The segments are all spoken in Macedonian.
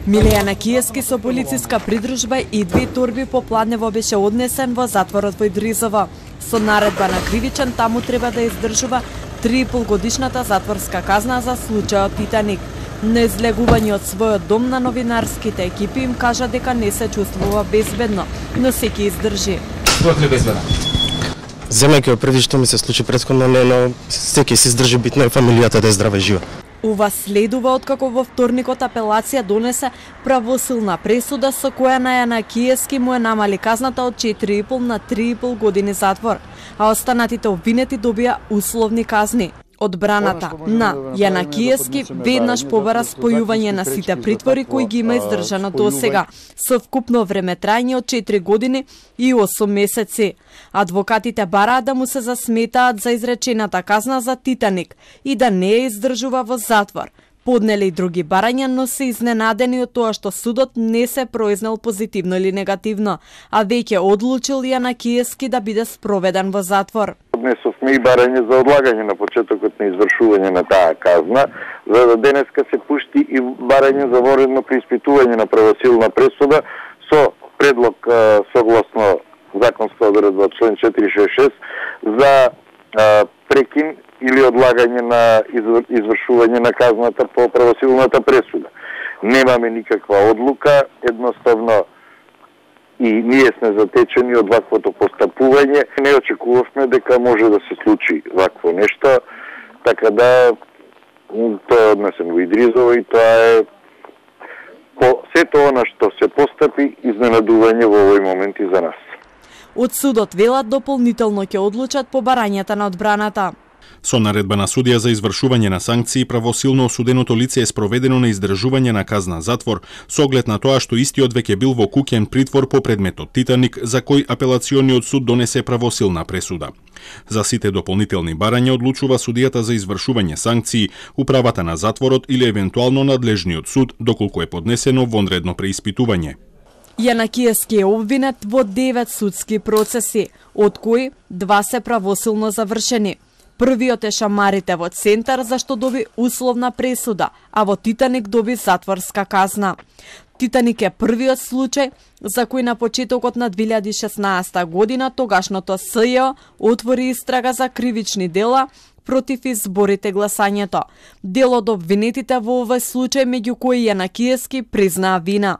Миле Јанакиевски со полициска придружба и 2 торби по Пладнево беше однесен во затворот во Идризово. Со наредба на кривичен таму треба да издржува 3,5 годишната затворска казна за случајот Титаник. На излегување од својот дом на новинарските екипи им кажа дека не се чувствува безбедно, но секи издржи. Што е безбедно? Земајќи преди што ми се случи претходно, но секи се издржи, битно е фамилијата да е здрава и жива. Ова следува откако во вторникот апелација донесе правосилна пресуда со која на Јанакиевски му е намали казната од 4,5 на 3,5 години затвор, а останатите обвинети добија условни казни. Одбраната на Јанакиевски веднаш побара спојување на сите притвори кои ги има издржано досега, со вкупно време трајање од 4 години и 8 месеци. Адвокатите бараат да му се засметаат за изречената казна за Титаник и да не ја издржува во затвор. Поднеле и други барања, но се изненадени од тоа што судот не се произнел позитивно или негативно, а веќе одлучил Јанакиевски да биде спроведен во затвор. Поднесовме и барање за одлагање на почетокот на извршување на таа казна, за да денеска се пушти и барање за воредно преиспитување на правосилна пресуда со предлог согласно законска одредба член 466 за прекин или одлагање на извршување на казната по правосилната пресуда. Немаме никаква одлука, едноставно и ние сме затечени од ваквото постапување. Не очекувавме дека може да се случи вакво нешто, така да тоа е однесен во Идризово и тоа е по сето она што се постапи изненадување во овој момент и за нас. Од судот велат дополнително ќе одлучат по барањата на одбраната. Со наредба на судија за извршување на санкции, правосилно осуденото лице е спроведено на издржување на казна затвор, со оглед на тоа што истиот веќе бил во куќен притвор по предметот Титаник, за кој апелациониот суд донесе правосилна пресуда. За сите дополнителни барања одлучува судијата за извршување санкции, управата на затворот или евентуално надлежниот суд, доколку е поднесено вонредно преиспитување. Јанакиевски е обвинет во 9 судски процеси, од кои 2 се правосилно завршени. Првиот е шамарите во Центар, за што доби условна пресуда, а во Титаник доби затворска казна. Титаник е првиот случај за кој на почетокот на 2016 година тогашното СЈО отвори истрага за кривични дела против изборите гласањето. Дел од обвинетите во овој случај, меѓу кои Јанакиевски признаа вина.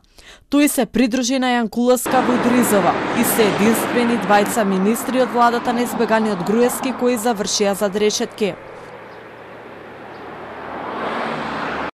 Тој се придружи на Јанкуловска во Идризово и се единствени двајца министри од владата на избеганиот Груевски кои завршија зад решетки.